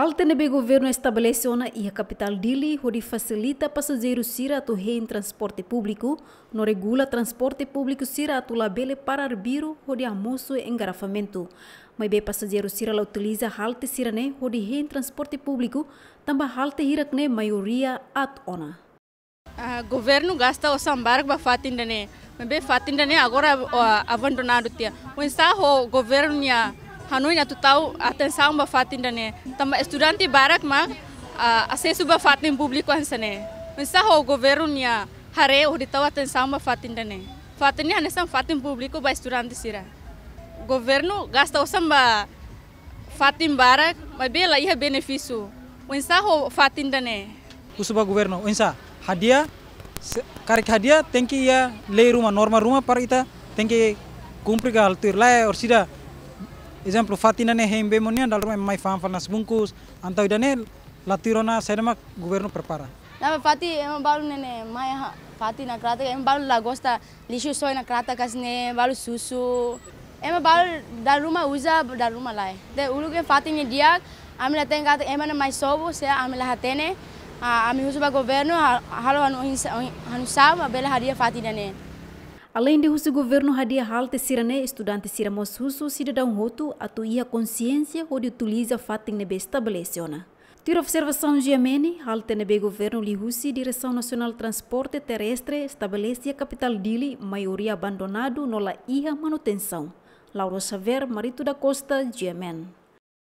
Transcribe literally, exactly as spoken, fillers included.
Halte ne'ebé governu estabelese ona iha kapitál Dili hodi fasilita pasajeiru sira atu hein transporte públiku, no regula transporte públiku sira atu labele para arbiru hodi hamosu engarrafamentu. Maibé pasajeiru sira la utiliza halte sira-ne'e hodi hein transporte públiku, tanba halte hirak-ne'e maioria aat ona. Ah, governu gasta osan barak ba fatin ida-ne'e. Maibé fatin ida-ne'e agora, ah, abandonadu tiha. Oinsá ho governu nia hanoin atu tau atensaun ba fatin ida-ne'e. Tanba estudante barak mak, ah, asesu ba fatin públiku hanesan ne'e. Oinsá ho governu nia haree hodi tau atensaun ba fatin ida-ne'e. Fatin ne'e hanesan fatin públiku ba estudante sira. Governu gasta osan ba fatin barak, maibé la iha benefísiu. Oinsá ho fatin ida-ne'e. Husu ba governu, oinsá, hadi'a, se-, karik hadi'a, tenke iha lei ruma, norma ruma para ita tenke kumpre ka halo tuir. Lae, orsida, ezemplu, fatin ida-ne'e hein bee mak nia, dala ruma mai fa'an fali nase-bungkus, entaun ida-ne'e la tuir ona saida mak governu prepara. Ne'ebé fatin ema balu ne'e ne'e mai ha-, fatin iha kratak, ema balu la gosta lixu soe iha kratak hanesan ne'e, balu susu. Ema balu dala ruma uza, dala ruma lae. Entaun uluk ne'e fatin ne'e di'ak, ami la hatene katak ema ne'e mai sobu, se ami la hatene, ah, ami husu ba governu, ha-, halo hanu hinsa-, hanu sá, bele hadi'a fatin ida-ne'e. Aleinde husu governu hadi'a halte sira-ne'e, estudante sira mós husu sidadaun hotu atu iha konsiénsia hodi utiliza fatin ne'ebé estabelese ona. Tuir observasaun G M N, halte ne'ebé governu liuhusi Diresaun Nasionál Transporte Terrestre estabelese iha kapitál Dili maioria abandonadu no la iha manutensaun. Laura Xavier, Marito da Costa, G M N.